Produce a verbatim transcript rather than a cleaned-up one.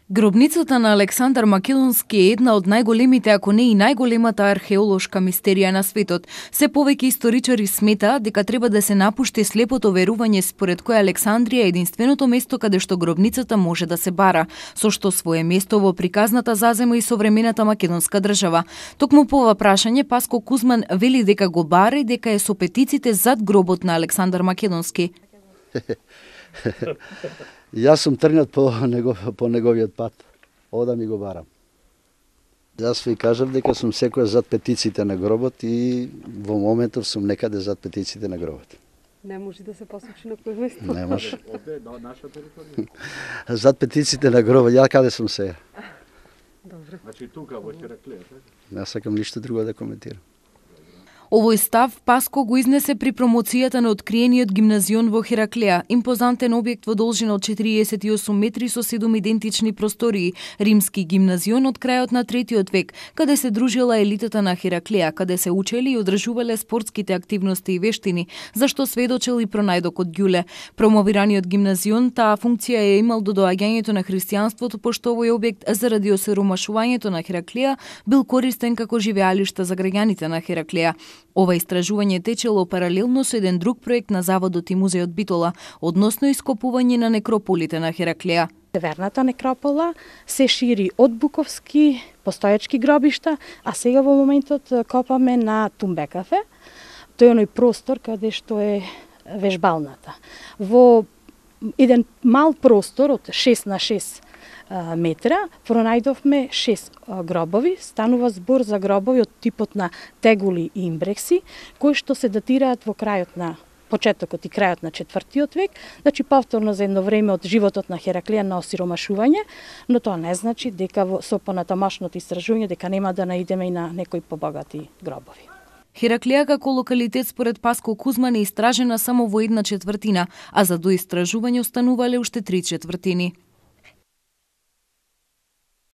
Гробницата на Александар Македонски е една од најголемите, ако не и најголемата археолошка мистерија на светот. Се повеќе историчари сметаат дека треба да се напушти слепото верување според кое Александрија е единственото место каде што гробницата може да се бара, со што свое место во приказната зазема и современата македонска држава. Токму по ова прашање Паско Кузман вели дека го бара и дека е со петиците зад гробот на Александар Македонски. Јас сум тргнат по, него, по неговиот пат. Ода ми го барам. Јас ви кажав дека сум секоја зад петициите на гробот и во моментов сум некаде зад петициите на гробот. Не може да се посочи на кој место? Не може. Наша територија. Зад петициите на гробот, ја каде сум сега? Добро. Значи тука во Хераклија, така? Јас сакам ништо друго да коментирам. Овој став Паско го изнесе при промоцијата на откриениот гимназион во Хераклија, импозантен објект во должина од четириесет и осум метри со седум идентични простории, римски гимназион од крајот на третиот век, каде се дружила елитата на Хераклија, каде се учели и одржувале спортските активности и вештини, зашто сведочел и пронајдокот Ѓуле. Промовираниот гимназион таа функција е имал до доаѓањето на христијанството, пошто овој објект заради осиромашувањето на Хераклија бил користен како живеалиште за граѓаните на Хераклија. Ова истражување течело паралелно со еден друг проект на заводот и музеот Битола, односно ископување на некрополите на Хераклија. Северната некропола се шири од Буковски постојачки гробишта, а сега во моментот копаме на Тумбекафе. Тој е оној простор каде што е вежбалната. Во еден мал простор од шест на шест метра, пронајдовме шест гробови. Станува збор за гробови од типот на тегули и имбрекси, кои што се датираат во крајот на почетокот и крајот на четвртиот век, значи повторно за едно време од животот на Хераклија на осиромашување, но тоа не значи дека во со понатамошното истражување дека нема да наидеме и на некои побогати гробови. Хераклија како локалитет според Паско Кузман е истражена само во една четвртина, а за доистражување останувале уште три четвртини.